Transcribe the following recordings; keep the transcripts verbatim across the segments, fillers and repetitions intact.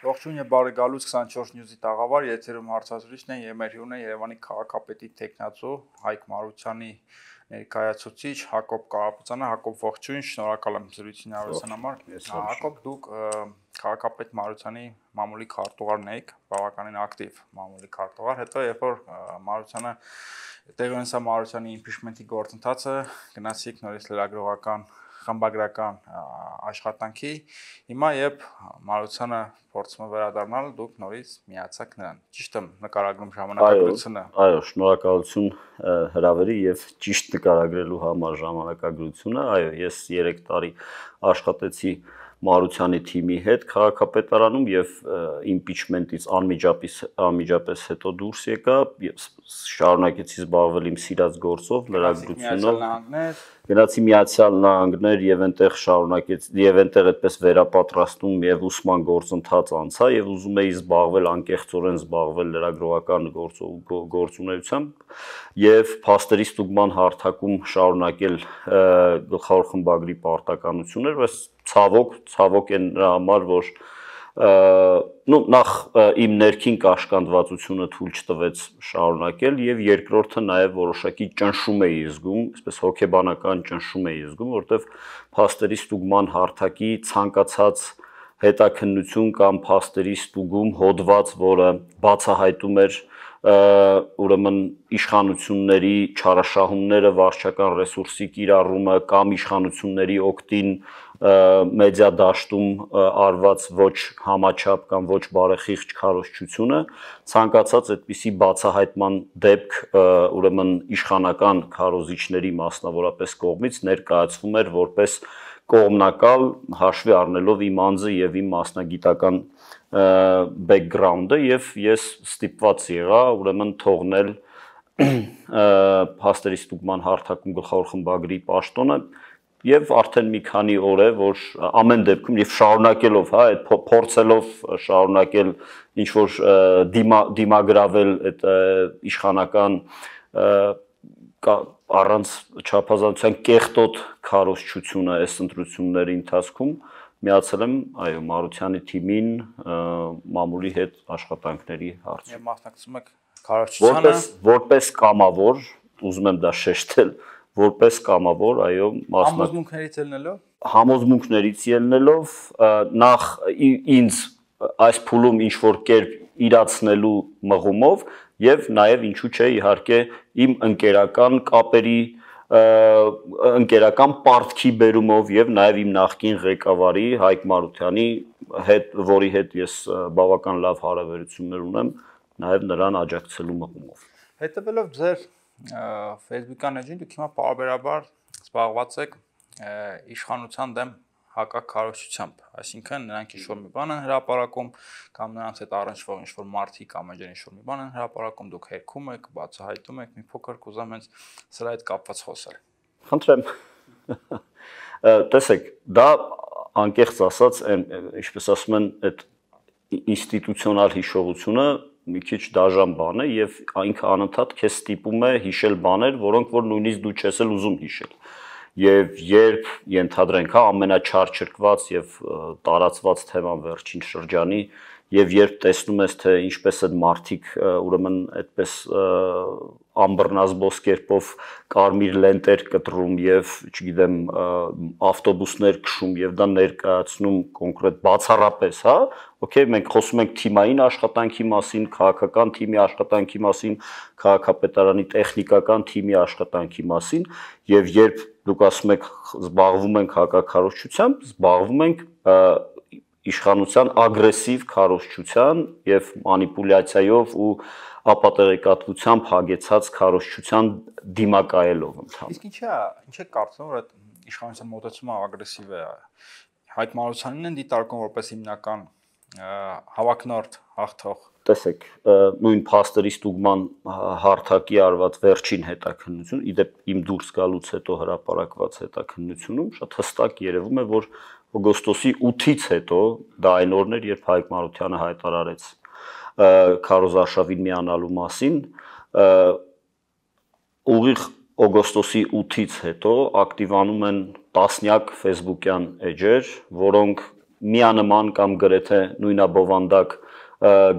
Ողջույն եւ բարի գալուց քսանչորս News-ի տաղավար, եթերում հարցազրույցն է եւ մեր հյուրն է Երևանի քաղաքապետի տեխնացու Հայկ Մարությանի ներկայացուցիչ Հակոբ Կարապետյանը։ Հակոբ, ողջույն, շնորհակալ եմ զրույցին հավասարության համար։ Հակոբ, դուք քաղաքապետ Մարությանի մամուլի քարտուղարն եք, բավականին ակտիվ մամուլի քարտուղար, հետո երբ որ Մարությանը տեղի ունեցավ Մարությանի impeachment-ի գործընթացը, գնացիք նորից լրագրողական խմբագրական աշխատանքի, հիմա երբ Մարությանը փորձում է վերադառնալ, դուք նորից միացաք նրան։ Ճիշտ եմ նկարագրում ժամանակագրությունը։ Այո, շնորհակալություն հրավերի եւ ճիշտ նկարագրելու համար ժամանակագրությունը։ Այո, ես երեք տարի աշխատեցի Մարությանի թիմի հետ քաղաքապետարանում եւ impeachment-ից անմիջապես անմիջապես հետո դուրս եկա եւ շարունակեցի զբաղվել իմ սիրած գործով, լրագրությունով։ Գնացի Միացյալ Նահանգներ եւ այնտեղ շարունակեցի եւ այնտեղ այդպես վերապատրաստում եւ ուսման գործընթաց անցա եւ ուզում էի զբաղվել անկեղծորեն զբաղվել լրագրողական գործունեությամբ եւ փաստերի ստուգման հարթակում շարունակել գլխավոր խմբագրի պարտականություններ, բայց ցավոք, ցավոք են նրա համար, որ նո նախ իմ ներքին կաշկանդվածությունը թույլ չտվեց շարունակել եւ երկրորդը նաեւ որոշակի ճնշում էի զգում, այսպես հոգեբանական ճնշում էի զգում, որտեվ փաստերի ստուգման հարթակի ցանկացած հետաքննություն կամ փաստերի ստուգում հոդված, որը բացահայտում էր ուրեմն իշխանությունների չարաշահումները, վարչական ռեսուրսի կիրառումը կամ իշխանությունների օգտին մեդիա դաշտում արված ոչ համաչափ կամ ոչ բարեխիղճ քարոզչությունը, ցանկացած այդպիսի բացահայտման դեպք ուրեմն իշխանական քարոզիչների մասնավորապես կողմից ներկայացվում էր որպես կողմնակալ, հաշվի առնելով իմ անձը եւ իմ մասնագիտական background-ը եւ ես ստիպված եղա ուրեմն թողնել փաստերի ստուգման հարթակում գլխավոր խմբագրի պաշտոնը եւ արդեն մի քանի օր է, որ ամեն դեպքում եւ շարունակելով, հա, այդ փորձելով շարունակել ինչ որ դիմագրավել այդ իշխանական առանց չափազանցության կեղտոտ քարոզչությունը այս ընտրությունների ընթացքում միացել եմ, այո, Մարությանի թիմին մամուլի հետ աշխատանքների հարցում։ Եվ մասնակցում եք քարոզչությանը որպես կամավոր, ուզում եմ դա շեշտել, որպես կամավոր, այո, համոզմունքներից ելնելով, համոզմունքներից ելնելով, նախ ինձ այս փուլում ինչ որ կերպ իրացնելու մղումով եւ նաեւ ինչու՞ չէ իհարկե իմ ընկերական կապերի ընկերական պարտքի բերումով եւ նաեւ իմ նախկին ղեկավարի Հայկ Մարությանի հետ, որի հետ ես բավական լավ հարաբերություններ ունեմ, նաեւ նրան աջակցելու մղումով։ Հետևելով ձեր Facebook-յան էջին, դուք հիմա պարբերաբար զբաղված եք իշխանության դեմ հակաքարոզչությամբ, այսինքն նրանք ինչ-որ մի բան են հրապարակում կամ նրանց հետ առնչվող ինչ-որ մարդիկ կամ էջեր ինչ-որ մի բան են հրապարակում, դուք հերքում եք, բացահայտում եք, մի փոքր կուզեմ հենց սրա հետ կապված խոսել։ Խնդրեմ։ Տեսեք, դա անկեղծ ասած, ինչպես ասում են, այդ ինստիտուցիոնալ հիշողությունը մի քիչ դաժան բան է եւ ինքը անընդհատ քեզ ստիպում է հիշել բաներ, որոնք որ նույնիսկ դու չես էլ ուզում հիշել։ Եվ երբ ենթադրենք, հա, ամենաչարչրկված եւ տարածված թեման վերջին շրջանի եւ երբ տեսնում ես թե ինչպես այդ մարդիկ ուրեմն այդպես ամբռնազբոս կերպով կարմիր լենտեր կտրում եւ, չգիտեմ, ավտոբուսներ քշում եւ դա ներկայացնում կոնկրետ բացառապես, հա, օքեյ, մենք խոսում ենք թիմային աշխատանքի մասին, քաղաքական թիմի աշխատանքի մասին, քաղաքապետարանի տեխնիկական թիմի աշխատանքի մասին եւ երբ դուք ասում եք զբաղվում ենք հակաքարոզչությամբ, զբաղվում ենք իշխանության ագրեսիվ քարոզչության եւ մանիպուլյացիայով ու ապատեղեկատվությամբ հագեցած քարոզչության դիմակայելով ընդհանուր։ Իսկ ինչա, ինչ է կարծում, որ այդ իշխանության մոտեցումը ագրեսիվ է։ Հայկ Մարությանին են դիտարկում որպես հիմնական հավակնորդ հաղթող։ Տեսեք, նույն փաստերի ստուգման հարթակի արված վերջին հետաքննություն, իդեպ իմ դուրս գալուց հետո հրապարակված հետաքննությունում շատ հստակ երևում է, որ օգոստոսի ութից հետո, դա այն օրն էր, երբ Հայկ Մարությանը հայտարարեց քարոզարշավին միանալու մասին, ուղիղ օգոստոսի ութից հետո ակտիվանում են տասնյակ Facebook-յան էջեր, որոնք միանման կամ գրեթե նույնաբովանդակ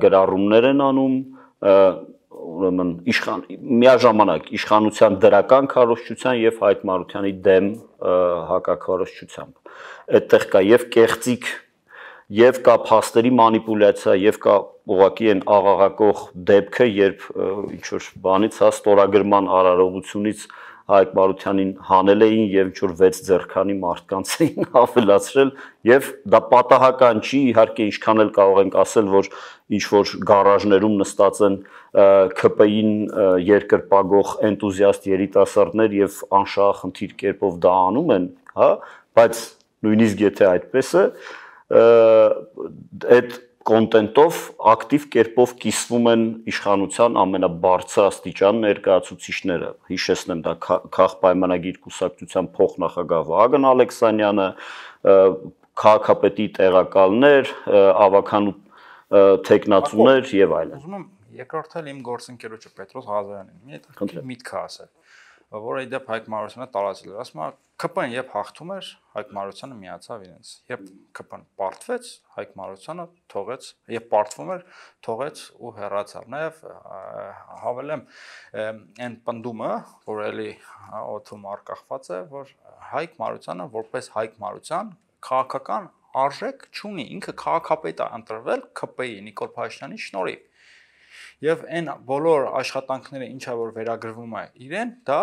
գրառումներ են անում, ուրեմն իշխան միաժամանակ իշխանության դրական քարոզչության եւ Հայկ Մարությանի դեմ հակաքարոզչությամբ։ Այդտեղ կա եւ կեղծիք, եւ կա փաստերի մանիպուլյացիա, եւ կա ուղղակի այն աղաղակող դեպքը, երբ ինչ որ բանից հա ստորագրման արարողությունից Հայկ Մարությանին հանել էին եւ ինչ որ վեց ձեռքանի մարդկանց էին ավելացրել եւ դա պատահական չի, իհարկե ինչքան էլ կարող ենք ասել, որ ինչ որ գարաժներում նստած են ՔՊ-ին երկրպագող էնտուզիաստ երիտասարդներ եւ անշահախնդիր կերպով դա անում են, հա, բայց նույնիսկ եթե այդպես է, այդ կոնտենտով ակտիվ կերպով կիսվում են իշխանության ամենաբարձր աստիճան ներկայացուցիչները։ Հիշեցնեմ, դա Քաղ պայմանագիր կուսակցության փոխնախագահ Վահագն Ալեքսանյանը, քաղաքապետի տեղակալներ, ավականու տեխնացուներ եւ այլն։ Ուզում եմ երկրորդել իմ գործընկերոջը Պետրոս Ղազարյանին։ Մի հետ միտքը ասել, որ իդեպ Հայկ Մարությանը տարածել էր, ասում է ՔՊ-ն երբ հաղթում էր, Հայկ Մարությանը միացավ իրենց։ Երբ ՔՊ-ն պարտվեց, Հայկ Մարությանը թողեց, երբ պարտվում էր, թողեց ու հեռացավ։ Նաև հավելեմ այն պնդումը, որ էլի օդում արկախված է, որ Հայկ Մարությանը որպես Հայկ Մարության քաղաքական արժեք չունի, ինքը քաղաքապետ է ընտրվել ՔՊ-ի Նիկոլ Փաշինյանի շնորհիվ։ Եվ այն բոլոր աշխատանքները, ինչա որ վերագրվում է իրեն, դա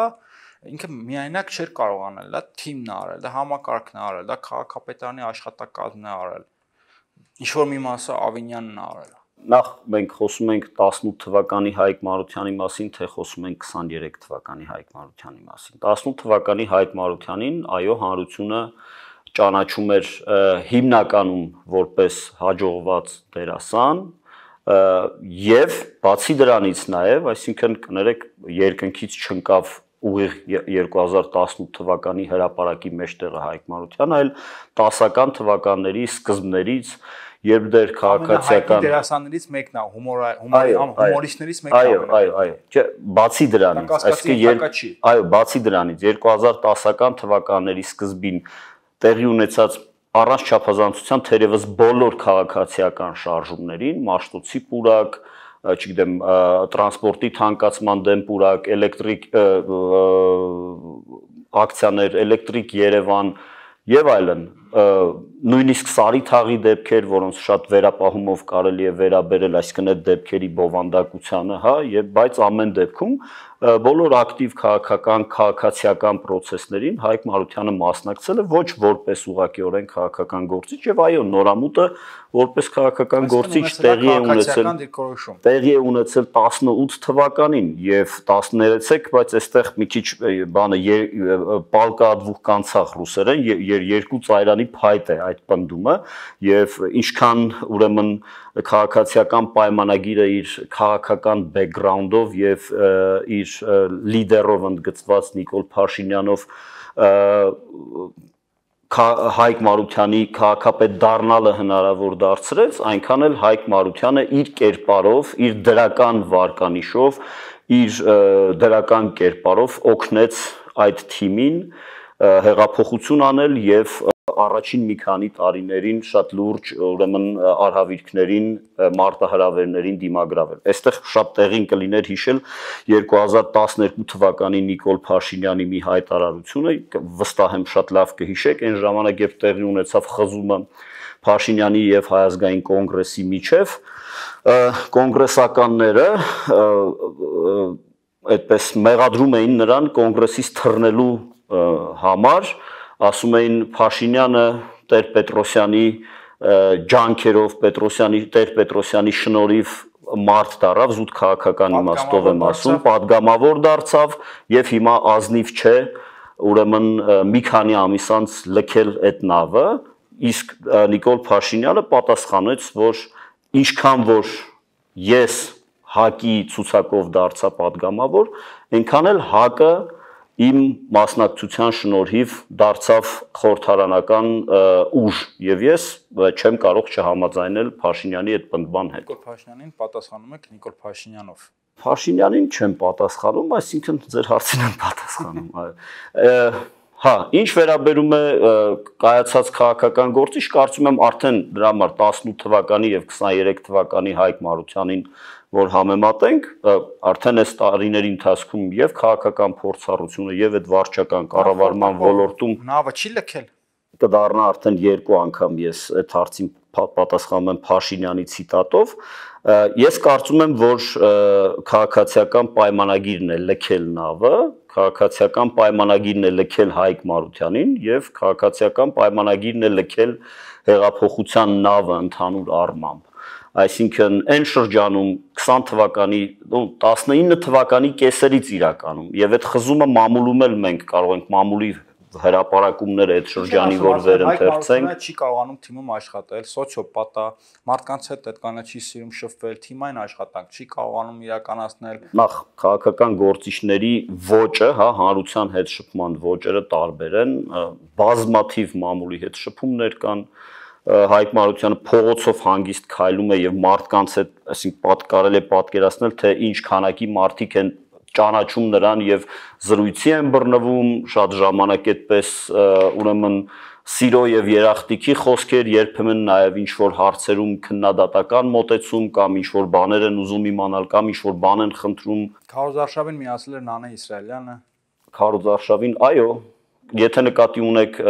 ինքը միայնակ չէր կարող անել, դա թիմն է արել, դա համակարգն է արել, դա քաղաքապետարանի աշխատակազմն է արել։ Ինչ որ մի մասը Ավինյանն է արել։ Նախ մենք խոսում ենք տասնութ թվականի Հայկ Մարությանի մասին, թե խոսում ենք քսաներեք թվականի Հայկ Մարությանի մասին։ տասնութ թվականի Հայկ Մարությանին, այո, հանրությունը ճանաչում էր հիմնականում որպես հաջողված դերասան, եւ բացի դրանից նաեւ, այսինքն կներեք, երկնքից չընկավ ուղիղ երկու հազար տասնութ թվականի հրապարակի մեջտեղը Հայկ Մարությանը, այլ տասական թվականների սկզբներից, երբ դեր քաղաքացիական դերասաններից մեկն է, հումորիստներից մեկն է։ Այո, այո, այո, չէ, բացի դրանից, այսինքն, այո, բացի դրանից երկու հազար տասական թվականների սկզբին տեղի ունեցած առանց չափազանցության թերևս բոլոր քաղաքացիական շարժումներին, Մաշտոցի պուրակ, չգիտեմ, տրանսպորտի թանկացման դեմ պուրակ, էլեկտրիկ ակցիաներ, էլեկտրիկ Երևան եւ այլն, նույնիսկ Սարի թաղի դեպքեր, որոնց շատ վերապահումով կարելի է վերաբերել, այսինքն այդ դեպքերի բովանդակությանը, հա, եւ բայց ամեն դեպքում բոլոր ակտիվ քաղաքական, քաղաքացիական process-ներին Հայկ Մարությանը մասնակցել է ոչ որպես ուղղակիորեն քաղաքական գործիչ եւ այո, Նորամուտը որպես քաղաքական գործիչ տեղի է ունեցել տեղի է ունեցել տասնութ թվականին եւ տասներեցեք, բայց այստեղ մի քիչ բանը պալկադվուխ կանցախ ռուսերեն երկու ծայրանի փայտ է այդ պնդումը եւ ինչքան ուրեմն քաղաքացիական պայմանագիրը իր քաղաքական բեքգրաունդով եւ իր լիդերով ընդգծված Նիկոլ Փաշինյանով Հայկ Մարությանի քաղաքապետ դառնալը հնարավոր դարձրեց, այնքան էլ Հայկ Մարությանը իր կերպարով, իր դրական վարկանիշով, իր դրական կերպարով օգնեց այդ թիմին հեղափոխություն անել եւ առաջին մի քանի տարիներին շատ լուրջ ուրեմն արհավիրքներին, մարտահրավերներին դիմագրավել։ Այստեղ շատ տեղին կլիներ հիշել երկու հազար տասներկու թվականի Նիկոլ Փաշինյանի մի հայտարարությունը, վստահ եմ շատ լավ կհիշեք, այն ժամանակ երբ տեղի ունեցավ խզումը Փաշինյանի եւ Հայ ազգային կոնգրեսի միջև, կոնգրեսականները այդպես մեղադրում էին նրան կոնգրեսից թռնելու համար, ասում էին Փաշինյանը Տեր-Պետրոսյանի ջանքերով, Պետրոսյանի Տեր-Պետրոսյանի շնորհիվ մարդ դառավ, զուտ քաղաքական իմաստով եմ ասում, падգամավոր դարձավ եւ հիմա ազնիվ չէ, ուրեմն մի քանի ամիս անց լքել այդ նավը, իսկ Նիկոլ Փաշինյանը պատասխանեց, որ ինչքան որ ես ՀԱԿ-ի ցուցակով դարձա падգամավոր, այնքան էլ ՀԱԿ-ը իմ մասնակցության շնորհիվ դարձավ խորհրդարանական ուժ եւ ես չեմ կարող չհամաձայնել Փաշինյանի այդ պնդման հետ։ Նիկոլ Փաշինյանին պատասխանում եք Նիկոլ Փաշինյանով։ Փաշինյանին չեմ պատասխանում, այսինքն ձեր հարցին եմ պատասխանում, այո։ Հա, ինչ վերաբերում է կայացած քաղաքական գործիչ, կարծում եմ արդեն դրա համար տասնութ թվականի եւ քսաներեք թվականի Հայկ Մարությանին, որ համեմատենք, արդեն այս տարիների ընթացքում եւ քաղաքական փորձառությունը եւ այդ վարչական կառավարման ոլորտում նավը չի լքել։ Կդառնա արդեն երկու անգամ ես այդ հարցին պատասխանում եմ Փաշինյանի ցիտատով։ Ես կարծում եմ, որ քաղաքացիական պայմանագիրն է լքել նավը, քաղաքացիական պայմանագիրն է լքել Հայկ Մարությանին եւ քաղաքացիական պայմանագիրն է լքել հեղափոխության նավը ընդհանուր առմամբ։ Այսինքն այն շրջանում քսան թվականի, տասնինը թվականի կեսերից իրականում եւ այդ խզումը մամուլում էլ մենք կարող ենք մամուլի հրապարակումները այդ շրջանի որ վերընթերցենք չի կարողանում թիմում աշխատել, սոցիոպատա, մարդկանց հետ այդքանը չի սիրում շփվել, թիմային աշխատանք չի կարողանում իրականացնել։ Նախ քաղաքական գործիչների ոճը, հա, հանրության հետ շփման ոճերը տարբեր են, բազմաթիվ մամուլի հետ շփումներ կան, Հայկ Մարությանը փողոցով հանգիստ քայլում է եւ մարդկանց հետ, այսինքն պատկարել է պատկերացնել, թե ինչ քանակի մարդիկ են ճանաչում նրան եւ զրույցի են բռնվում, շատ ժամանակ այդպես ուրեմն սիրո եւ երախտիկի խոսքեր, երբեմն նաեւ ինչ որ հարցերում քննադատական մոտեցում կամ ինչ որ բաներ են ուզում իմանալ կամ ինչ որ բան են խնդրում։ Քարոզարշավին միացել էր Նանե Իսրայելյանը։ Քարոզարշավին, այո, եթե նկատի ունեք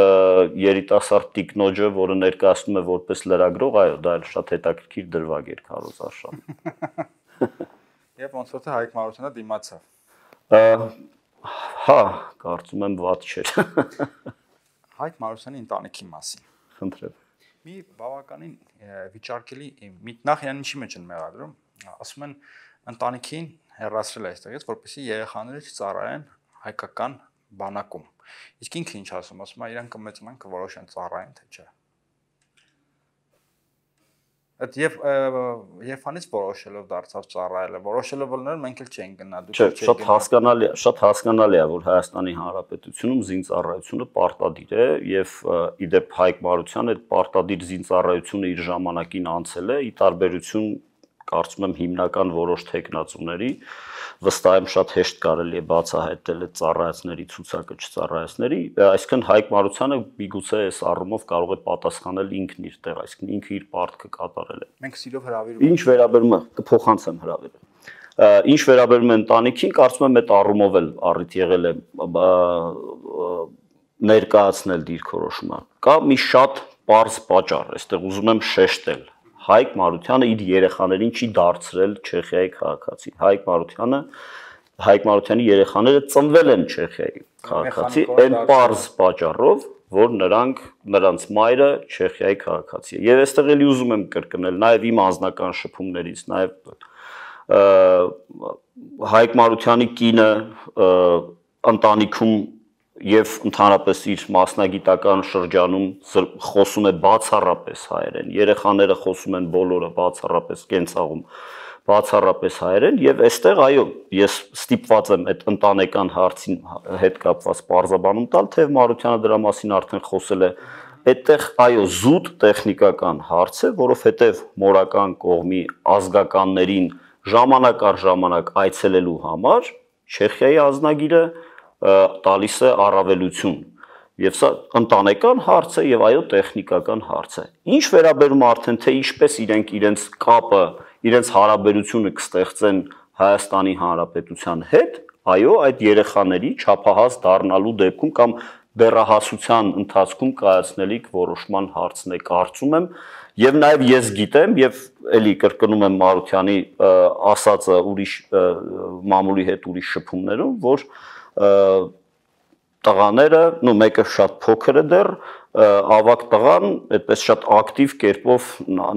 երիտասարդ տիկնոջը, որը ներկայացնում է որպես լրագրող, այո, դա էլ շատ հետաքրքիր դրվագ էր քարոզարշավը։ Եվ ոնց որ թե Հայկ Մարությանը դիմացավ։ Հա, կարծում եմ վատ չէր։ Հայկ Մարությանի ընտանիքի մասին։ Խնդրեմ։ Մի բավականին վիճարկելի նախ իրան ինչի մեջ են մեղադրում, ասում են ընտանիքին հեռացրել է այստեղից, որպեսզի երեխաները չծառայեն հայկական բանակում։ Իսկ ինքը ինչ ասում, ասում է իրան կմեծանան կորոշեն ծառայեն թե չէ։ Այդ եւ երբանից որոշելով դարձավ ծառայելը, որոշելով լներ մենք էլ չենք գնա, դուք չեք։ Շատ հասկանալի, շատ հասկանալի է, որ Հայաստանի Հանրապետությունում զինծառայությունը պարտադիր է եւ իդեպ Հայկ Մարությանը այդ պարտադիր զինծառայությունը իր ժամանակին անցել է, ի տարբերություն կարծում եմ հիմնական որոշ տեխնացուների, վստահ եմ շատ հեշտ կարելի է բացահայտել այդ ծառայացների ցուցակը չծառայացների, այսինքն Հայկ Մարությանը միգուցե այս առումով կարող է պատասխանել ինքն իր տեղ, այսինքն ինքը իր պարտքը կատարել է։ Մենք սիրով հրավիրում։ Ինչ վերաբերում է, կփոխանցեմ հրավերը։ Ինչ վերաբերում է ընտանիքին, կարծում եմ այդ առումով էլ առիթ եղել է ներկայացնել դիրքորոշումը։ Կա մի շատ պարզ պատճառ, այստեղ ուզում եմ շեշտել։ Հայկ Մարությանը իր երեխաներին չի դարձրել Չեխիայի քաղաքացի։ Հայկ Մարությանը Հայկ Մարությանի երեխաները ծնվել են Չեխիայի քաղաքացի, այն պարզ պատճառով, որ նրանք նրանց մայրը Չեխիայի քաղաքացի է։ Եվ այստեղ էլի ուզում եմ կրկնել, նաև իմ անձնական շփումներից, նաև Հայկ Մարությանի կինը ընտանիքում եւ ընդհանրապես իր մասնագիտական շրջանում խոսում է բացառապես հայերեն, երեխաները խոսում են բոլորը բացառապես կենցաղում, բացառապես հայերեն եւ այստեղ այո, ես ստիպված եմ այդ ընտանեկան հարցին հետ կապված բարձաբանում տալ, թե Մարությանը դրա մասին արդեն խոսել է, այդտեղ այո, զուտ տեխնիկական հարց է, որովհետեւ մորական կողմի ազգականներին ժամանակ առ ժամանակ այցելելու համար Չեխիայի ազնագիրը տալիս է առավելություն եւ սա ընտանեկան հարց է եւ այո տեխնիկական հարց է ինչ վերաբերում արդեն թե ինչպես իրենք իրենց կապը իրենց հարաբերությունը կստեղծեն Հայաստանի Հանրապետության հետ այո այդ երեխաների չափահաս դառնալու դեպքում կամ դեռահասության ընթացքում կայացնելիք որոշման հարցն է կարծում եմ եւ նաեւ ես գիտեմ եւ էլի կրկնում եմ Մարությանի ասածը ուրիշ մամուլի հետ ուրիշ շփումներում որ տղաները, նո մեկը շատ փոքր է դեռ, ավակ տղան այդպես շատ ակտիվ կերպով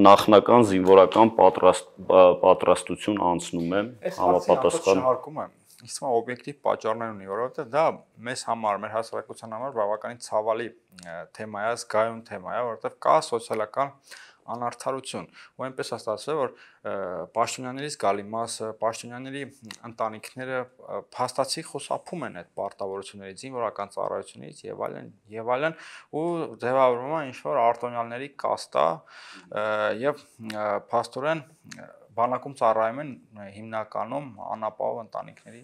նախնական զինվորական պատրաստ պատրաստություն անցնում է համապատասխան շարքում եմ։ Իսկ մա օբյեկտիվ պատճառներ ունի, որովհետեւ դա մեզ համար, մեր հասարակության համար բավականին ցավալի թեմա է, զգայուն թեմա է, որովհետեւ կա սոցիալական անարդարություն ու այնպես է ստացվել որ Պաշտոնյաներից գալի մասը Պաշտոնյաների ընտանիքները փաստացի խուսափում են այդ պարտավորություններից զինվորական ծառայությունից եւ այլն եւ այլն ու ձևավորվում է ինչ որ արտոնյալների կաստա եւ փաստորեն բանակում ծառայում են հիմնականում անապահով ընտանիքների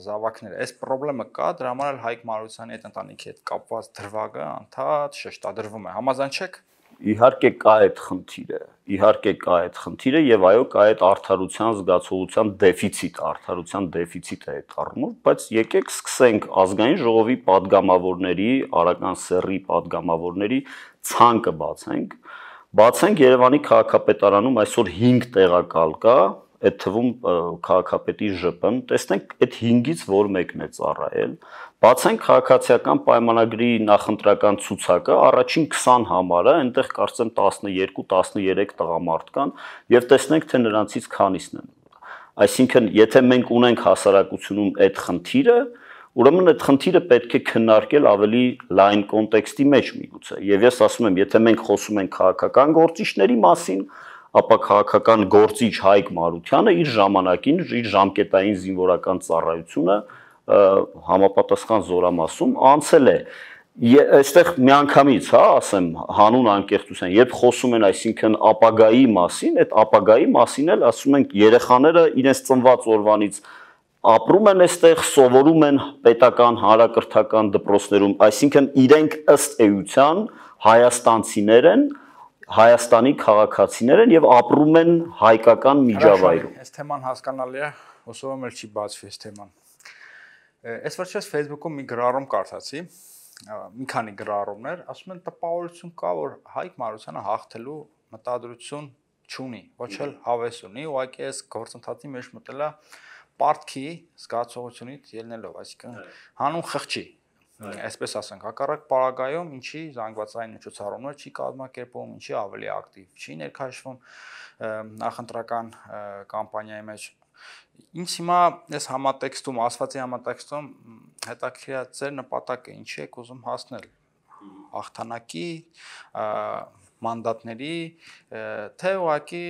զավակները։ Այս խնդրեմը կա, դրա համար էլ Հայկ Մարությանի այդ ընտանիքի հետ կապված դրվագը անդադ շեշտադրվում է։ Համաձայն չեք։ Իհարկե կա այդ խնդիրը, իհարկե կա այդ խնդիրը եւ այո կա այդ արդարության զգացողության դեֆիցիտ, արդարության դեֆիցիտ է այդ առումով, բայց եկեք սկսենք ազգային ժողովի падգամավորների, արական սեռի падգամավորների ցանկը բացենք, բացենք Երևանի քաղաքապետարանում այսօր հինգ տեղակալ կա, այդ թվում քաղաքապետի ԺՊ-ն, տեսնենք այդ հինգից որ մեկն է ծառայել, բացենք քաղաքացիական պայմանագրի նախընտրական ցուցակը, առաջին քսան համարը, այնտեղ կարծեմ տասնեերկու տասնեերեք տղամարդ կան եւ տեսնենք թե նրանցից քանիսն են։ Այսինքն, եթե մենք ունենք հասարակությունում այդ խնդիրը, ուրեմն այդ խնդիրը պետք է քննարկել ավելի լայն կոնտեքստի մեջ միգուցե։ Եվ ես ասում եմ, եթե մենք խոսում ենք քաղաքական գործիչների մասին, ապա քաղաքական գործիչ Հայկ Մարությանը իր ժամանակին, իր ժամկետային զինվորական ծառայությունը համապատասխան զորամասում անցել է։ Այստեղ միանգամից, հա, ասեմ, հանուն անկեղծության, երբ խոսում են, այսինքն ապագայի մասին, այդ ապագայի մասին էլ ասում ենք երեխաները իրենց ծնված օրվանից ապրում են այստեղ, սովորում են պետական հանրակրթական դպրոցներում, այսինքն իրենք ըստ էության հայաստանցիներ են, Հայաստանի քաղաքացիներ են եւ ապրում են հայկական միջավայրում։ Այս թեման հասկանալի է, ոսով եմ էլ չի բացվի այս թեման։ Այս վերջերս Facebook-ում մի գրառում կարդացի, մի քանի գրառումներ, ասում են տպավորություն կա, որ Հայկ Մարությանը հաղթելու մտադրություն չունի, ոչ էլ հավես ունի, ուղղակի այս գործընթացի մեջ մտել է պարտքի զգացողությունից ելնելով, այսինքն հանուն խղճի, այսպես ասենք, հակառակ պարագայում ինչի զանգվածային միջոցառումներ չի կազմակերպում, ինչի ավելի ակտիվ չի ներկայացվում նախընտրական կամպանիայի մեջ։ Ինչ հիմա այս համատեքստում, ասվածի համատեքստում հետաքրքիր է ձեր նպատակը, ինչի եք ուզում հասնել հաղթանակի, մանդատների, թե ուղղակի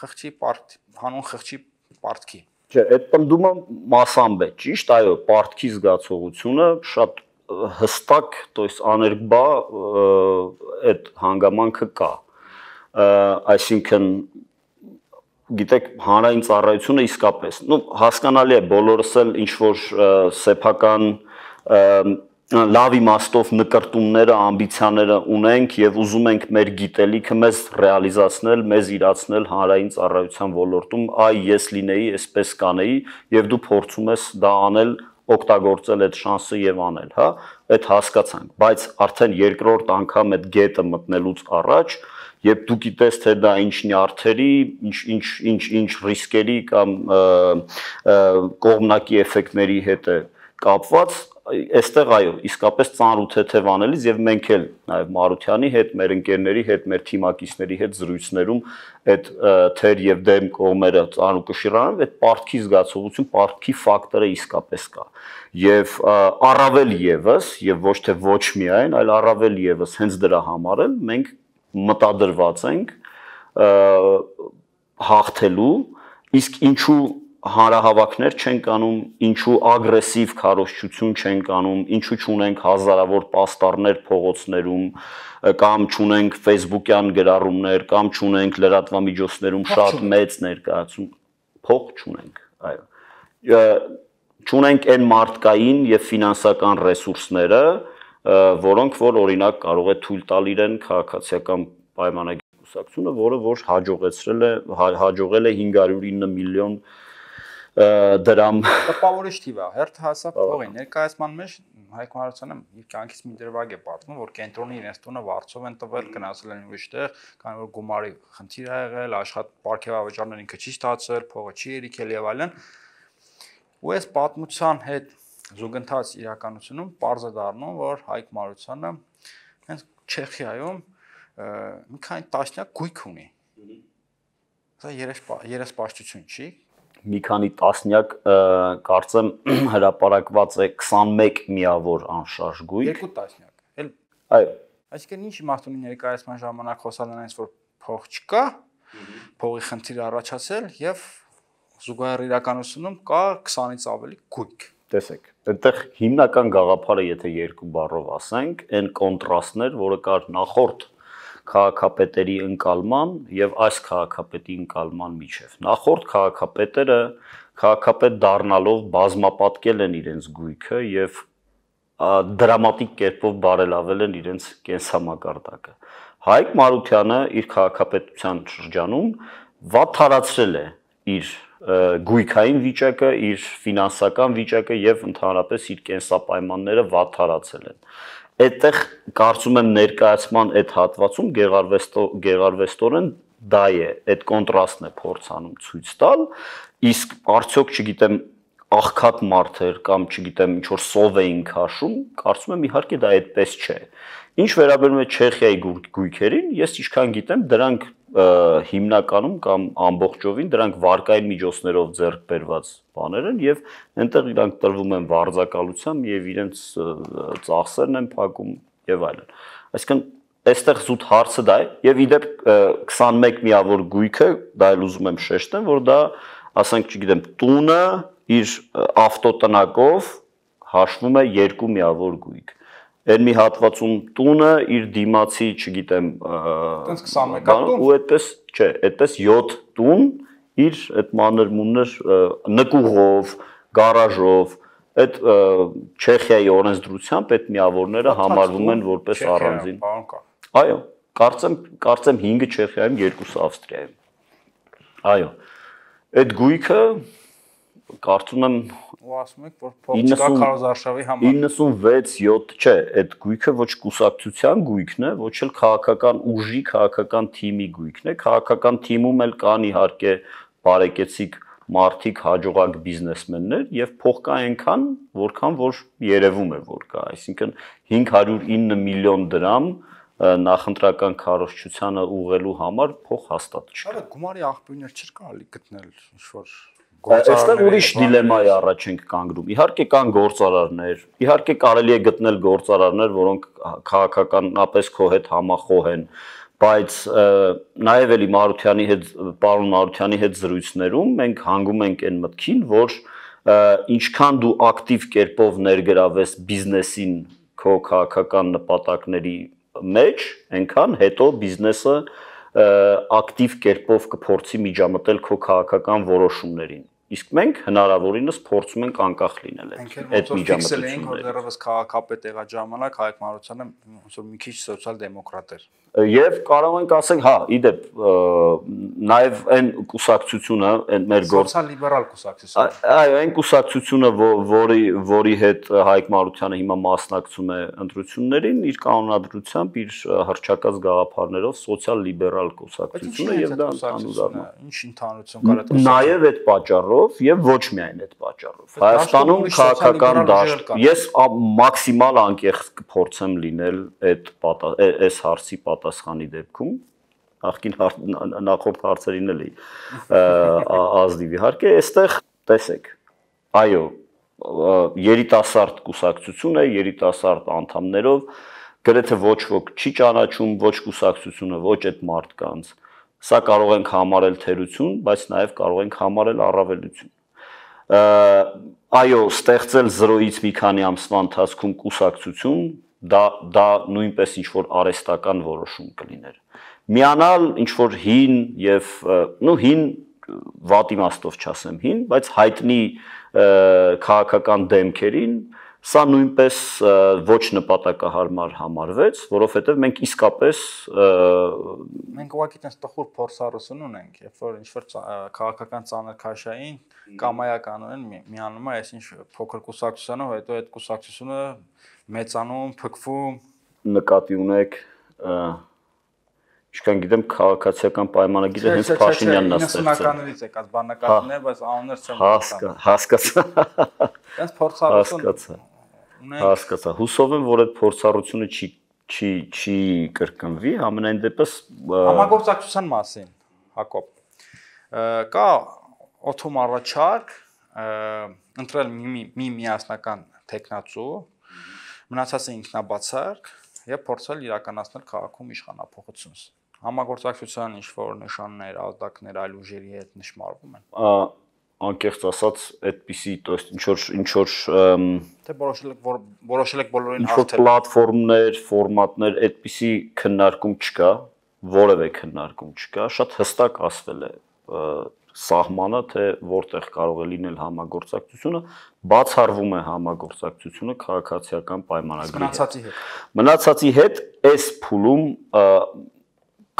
խղճի պարտ, հանուն խղճի պարտքի։ Չէ, այդ պնդումը մասամբ է, ճիշտ, այո, պարտքի զգացողությունը շատ հստակ, то есть աներկբա այդ հանգամանքը կա, այսինքն գիտեք հանրային ծառայությունը իսկապես, ну հասկանալի է, բոլորս էլ ինչ որ սեփական լավ իմաստով նկրտումները, ամբիցիաները ունենք եւ ուզում ենք մեր գիտելիքը մեզ ռեալիզացնել, մեզ իրացնել հանրային ծառայության ոլորտում, այ ես լինեի, այսպես կանեի եւ դու փորձում ես դա անել, օգտագործել այդ շանսը եւ անել, հա, այդ հասկացանք, բայց արդեն երկրորդ անգամ այդ գետը մտնելուց առաջ, երբ դու գիտես թե դա ինչ նյարդերի, ինչ ինչ ինչ ինչ ռիսկերի կամ կողմնակի էֆեկտների հետ է կապված, այստեղ այո, իսկապես ծանր ու թեթև անելիս եւ մենք էլ նաեւ Մարությանի հետ, մեր ընկերների հետ, մեր թիմակիցների հետ զրույցներում այդ թեր եւ դեմ կողմերը ծանր ու կշիռանում, այդ պարտքի զգացողություն, պարտքի ֆակտորը իսկապես կա։ Եվ առավել եւս, եւ ոչ թե ոչ միայն, այլ առավել եւս հենց դրա համար էլ մենք մտադրված ենք հաղթելու, իսկ ինչու հանրահավաքներ չենք անում, ինչու ագրեսիվ քարոզչություն չենք անում, ինչու չունենք հազարավոր պաստառներ փողոցներում, կամ չունենք Facebook-յան գրառումներ, կամ չունենք լրատվամիջոցներում շատ մեծ ներկայացում, փող չունենք, այո։ Չունենք այն մարդկային եւ ֆինանսական ռեսուրսները, որոնք որ օրինակ կարող է թույլ տալ իրեն քաղաքացիական պայմանագրի կուսակցությունը, որը որ հաջողեցրել է հաջողել է հինգ հարյուր ինը միլիոն դրամ տպավորիչ թիվ է, հերթ հասավ փողի ներկայացման մեջ Հայկ Մարությանը իր կյանքից մի դրվագ է պատմում, որ կենտրոնի իրենց տունը վարձով են տվել, գնացել են ուրիշ տեղ, քանի որ գումարի խնդիր ա եղել, աշխատ պարգևավճարներ ինքը չի ստացել, փողը չի երիքել եւ այլն։ Ու այս պատմության հետ զուգընթաց իրականությունում պարզ է դառնում, որ Հայկ Մարությանը հենց Չեխիայում մի քանի տասնյակ գույք ունի։ Սա երեսպաշտություն չի։ Մի քանի տասնյակ կարծեմ հրապարակված է քսանմեկ միավոր անշարժ գույք։ Երկու տասնյակ։ Էլ այո։ Այսինքն ինչ իմաստ ունի ներկայացման ժամանակ խոսալ նրանից, որ փող չկա, փողի խնդիր առաջացել եւ զուգահեռ իրականությունում կա քսանից ավելի գույք։ Տեսեք, այդտեղ հիմնական գաղափարը, եթե երկու բառով ասենք, այն կոնտրաստներ, որը կար նախորդ քաղաքապետերի ընկալման եւ այս քաղաքապետի ընկալման միջև։ Նախորդ քաղաքապետերը քաղաքապետ դառնալով բազմապատկել են իրենց գույքը եւ դրամատիկ կերպով բարելավել են իրենց կենսամակարդակը։ Հայկ Մարությանը իր քաղաքապետության շրջանում վատթարացրել է իր գույքային վիճակը, իր ֆինանսական վիճակը եւ ընդհանրապես իր կենսապայմանները վատթարացել են։ Այդտեղ կարծում եմ ներկայացման այդ հատվածում գեղարվեստորեն դա է, այդ կոնտրաստն է փորձանում ցույց տալ, իսկ արդյոք չգիտեմ աղքատ մարդեր կամ չգիտեմ ինչ որ սով էին քաշում, կարծում եմ իհարկե դա այդպես չէ։ Ինչ վերաբերում է Չեխիայի գույքերին, ես ինչքան գիտեմ, դրանք հիմնականում կամ ամբողջովին դրանք վարկային միջոցներով ձեռք բերված բաներ են եւ այնտեղ իրանք տրվում են վարձակալությամբ եւ իրենց ծախսերն են փակում եւ այլն։ Այսինքն այստեղ զուտ հարցը դա է եւ իդեպ քսանմեկ միավոր գույքը, դա էլ ուզում եմ շեշտեմ, որ դա, ասենք, չգիտեմ, տունը իր ավտոտնակով հաշվում է երկու միավոր գույք։ Այն մի հատվածում տունը իր դիմացի, չգիտեմ, ու այդպես, չէ, այդպես յոթ տուն իր այդ մանր-մունր նկուղով, գարաժով, այդ Չեխիայի օրենսդրությամբ այդ միավորները համարվում են որպես առանձին։ Այո, կարծեմ, կարծեմ հինգը Չեխիայում, երկուսը Ավստրիայում։ Այո, այդ գույքը կարծում եմ ու ասում եք, որ փող չկա քարոզարշավի համար։ իննսունվեց յոթ չէ, այդ գույքը ոչ կուսակցության գույքն է, ոչ էլ քաղաքական ուժի, քաղաքական թիմի գույքն է, քաղաքական թիմում էլ կան իհարկե բարեկեցիկ մարդիկ, հաջողակ բիզնեսմեններ եւ փող կա այնքան, որքան որ երևում է որ կա, այսինքն հինգ հարյուր ինը միլիոն դրամ նախընտրական քարոզչությանը ուղղելու համար փող հաստատ չկա։ Այո, գումարի աղբյուրներ չէր կարելի գտնել ինչ որ Այստեղ ուրիշ դիլեմայի առաջ ենք կանգնում։ Իհարկե կան գործարարներ, իհարկե կարելի է գտնել գործարարներ, որոնք քաղաքականապես քո հետ համախոհ են, բայց նաև էլի Մարությանի հետ, պարոն Մարությանի հետ զրույցներում մենք հանգում ենք այն մտքին, որ ինչքան դու ակտիվ կերպով ներգրավես բիզնեսին քո քաղաքական նպատակների մեջ, այնքան հետո բիզնեսը ակտիվ կերպով կփորձի միջամտել քո քաղաքական որոշումներին։ Իսկ մենք հնարավորինս փորձում ենք անկախ լինել այդ միջամտություններից։ Որ դեռևս քաղաքապետ եղած ժամանակ Հայկ Մարությանը ոնց որ մի քիչ սոցիալ-դեմոկրատ էր։ Եվ կարող ենք ասենք, հա, իդեպ նաև այն կուսակցությունը, այն մեր գործ սոցիալ-լիբերալ կուսակցությունը։ Այո, այն կուսակցությունը, որի որի հետ Հայկ Մարությանը հիմա մասնակցում է ընտրություններին, իր կանոնադրությամբ, իր հռչակած գաղափարներով սոցիալ-լիբերալ կուսակցությունը եւ դա ընդհանուր ինչ ընդհանրություն կար այդ նաև այդ պատճառով եւ ոչ միայն այդ պատճառով։ Հայաստանում քաղաքական դաշտ, ես մաքսիմալ անկեղծ կփորձեմ լինել այդ այս հարցի պատասխանի դեպքում, ախքին նախորդ հարցերին էլի ազնիվ իհարկե, այստեղ տեսեք, այո, երիտասարդ կուսակցություն է, երիտասարդ անդամներով, գրեթե ոչ ոք չի ճանաչում ոչ կուսակցությունը, ոչ այդ մարդկանց։ Սա կարող ենք համարել թերություն, բայց նաև կարող ենք համարել առավելություն։ Այո, ստեղծել զրոյից մի քանի ամսվա ընթացքում կուսակցություն, դա դա նույնպես ինչ որ արհեստական որոշում կլիներ։ Միանալ ինչ որ հին եւ նո հին վատ իմաստով չասեմ հին, բայց հայտնի քաղաքական դեմքերին Սա նույնպես ոչ նպատակահարմար համարվեց, որովհետև մենք իսկապես մենք ուղղակի տես տխուր փորձառություն ունենք, երբ որ ինչ-որ քաղաքական ծանր քաշային կամայականորեն միանում է այսինչ փոքր կուսակցությանը, հետո այդ կուսակցությունը մեծանում, փքվում, նկատի ունեք, ինչքան գիտեմ քաղաքացիական պայմանագիրը հենց Փաշինյանն է ստեղծել։ իննսունականներից եկած բանականներ, բայց անուններ չեմ հասկացա։ Հենց փորձառություն Հասկացա։ Հուսով եմ, որ այդ փորձառությունը չի չի չի կրկնվի, համենայն դեպս համագործակցության մասին, Հակոբ։ Կա օթոմ առաջարկ ընտրել մի մի միասնական տեխնացու, մնացածը ինքնաբացարկ եւ փորձել իրականացնել քաղաքում իշխանափոխություն։ Համագործակցության ինչ որ նշաններ, ազդակներ այլ ուժերի հետ նշмарվում են։ Անկեղծ ասած, այդպիսի, то есть ինչ որ ինչ որ թե որոշել եք որոշել եք բոլորին հաղթել։ Պլատֆորմներ, ֆորմատներ, այդպիսի քննարկում չկա, որևէ քննարկում չկա, շատ հստակ ասվել է սահմանը, թե որտեղ կարող է լինել համագործակցությունը, բացառվում է համագործակցությունը քաղաքացիական պայմանագրի հետ։ Մնացածի հետ այս փուլում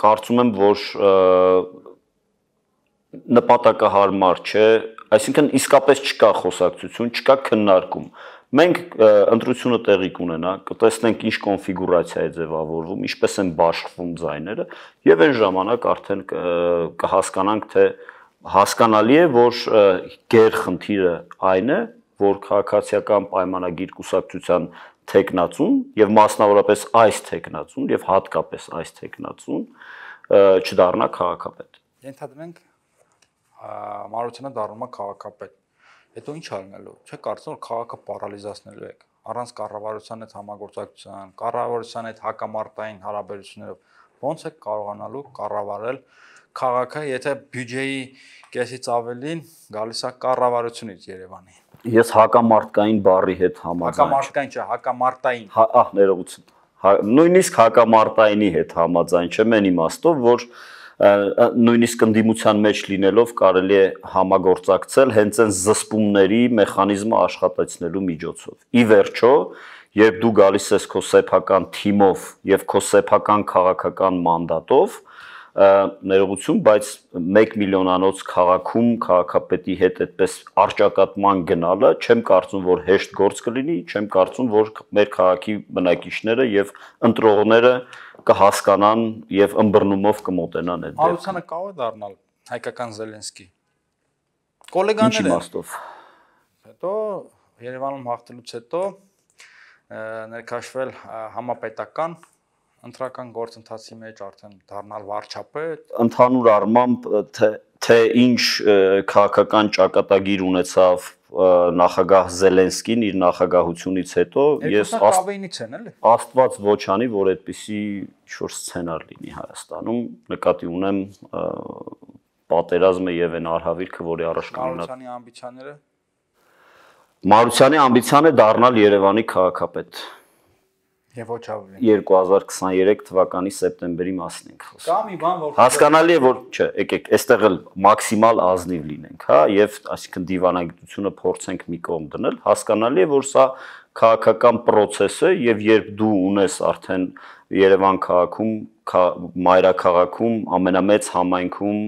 կարծում եմ, որ նպատակահարմար չէ, այսինքն իսկապես չկա խոսակցություն, չկա քննարկում։ Մենք ընտրությունը տեղի կունենա, կտեսնենք ինչ կոնֆիգուրացիա է ձևավորվում, ինչպես են բաշխվում ձայները, եւ այն ժամանակ արդեն կհասկանանք, թե հասկանալի է, որ գերխնդիրը այն է, որ քաղաքացիական պայմանագիր կուսակցության թեկնածուն եւ մասնավորապես այս թեկնածուն եւ հատկապես այս թեկնածուն չդառնա քաղաքապետ։ Ենթադրենք Մարությանը դառնում է քաղաքապետ։ Հետո ինչ արնելու։ Չէ՞ կարծում որ քաղաքը պարալիզացնելու եք առանց կառավարության հետ համագործակցության, կառավարության հետ հակամարտային հարաբերություններով ո՞նց եք կարողանալու կառավարել քաղաքը, եթե բյուջեի կեսից ավելին գալիս է կառավարությունից Երևանի։ Ես հակամարտկային բառի հետ համաձայն եմ։ Հակամարտկային չէ, հակամարտային։ Ահ, ներողություն։ Նույնիսկ հակամարտայինի հետ համաձայն չեմ այն իմաստով, որ նույնիսկ ընդդիմության մեջ լինելով կարելի է համագործակցել հենց այն զսպումների մեխանիզմը աշխատեցնելու միջոցով։ Ի վերջո, երբ դու գալիս ես քո սեփական թիմով եւ քո սեփական քաղաքական մանդատով, ներողություն, բայց մեկ միլիոնանոց քաղաքում քաղաքապետի հետ այդպես արճակատման գնալը չեմ կարծում, որ հեշտ գործ կլինի, չեմ կարծում, որ մեր քաղաքի բնակիչները եւ ընտրողները կհասկանան եւ ըմբռնումով կմոտենան այդ դեպքը։ Մարությանը կարող է դառնալ հայկական Զելենսկի։ Կոլեգաներ են։ Ինչ իմաստով։ Հետո Երևանում հաղթելուց հետո ներկայացվել համապետական ընտրական գործընթացի մեջ արդեն դառնալ վարչապետ։ Ընդհանուր առմամբ թե ինչ քաղաքական ճակատագիր ունեցավ նախագահ Զելենսկին իր նախագահությունից հետո, ես Աստված ոչ անի, որ այդպիսի ինչ-որ սցենար լինի Հայաստանում, նկատի ունեմ պատերազմը եւ այն արհավիրքը, որի առաջ կանգնած։ Մարությանի ամբիցիաները։ Մարությանի ամբիցիան է դառնալ Երևանի քաղաքապետ։ Եվ ոչ ավելի։ երկու հազար քսաներեք թվականի սեպտեմբերի մասին ենք խոսում։ Կա մի բան, որ հասկանալի է, որ չէ, եկեք, այստեղ էլ մաքսիմալ ազնիվ լինենք, հա, եւ այսինքն դիվանագիտությունը փորձենք մի կողմ դնել, հասկանալի է, որ սա քաղաքական process է եւ երբ դու ունես արդեն Երևան քաղաքում, մայրաքաղաքում, ամենամեծ համայնքում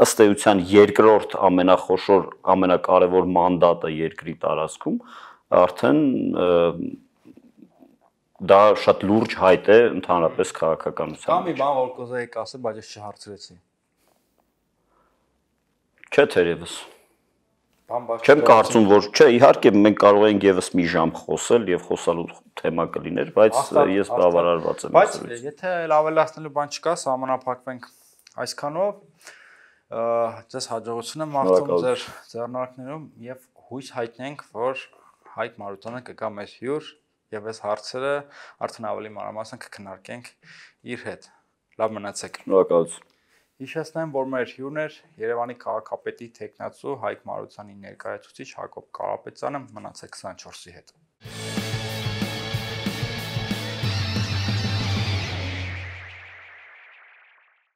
ըստ էության երկրորդ ամենախոշոր, ամենակարևոր մանդատը երկրի տարածքում, արդեն դա շատ լուրջ հայտ է ընդհանրապես քաղաքականության։ Կա մի բան, որ կուզեի ասել, բայց ես չհարցրեցի։ Չէ, թերևս։ Չեմ կարծում, որ չէ, իհարկե մենք կարող ենք եւս մի ժամ խոսել եւ խոսալու թեմա կլիներ, բայց ես բավարարված եմ։ Բայց եթե ավելացնելու բան չկա, սահմանափակվենք այսքանով, ձեզ հաջողություն եմ մաղթում ձեր ձեռնարկներում եւ հույս հայտնենք, որ Հայկ Մարությանը կգա մեզ հյուր եւ այս հարցերը արդեն ավելի մանրամասն կքննարկենք իր հետ։ Լավ մնացեք։ Շնորհակալություն։ Հիշեցնեմ, որ մեր հյուրն էր Երևանի քաղաքապետի թեկնածու Հայկ Մարությանի ներկայացուցիչ Հակոբ Կարապետյանը, մնացեք քսանչորսի հետ։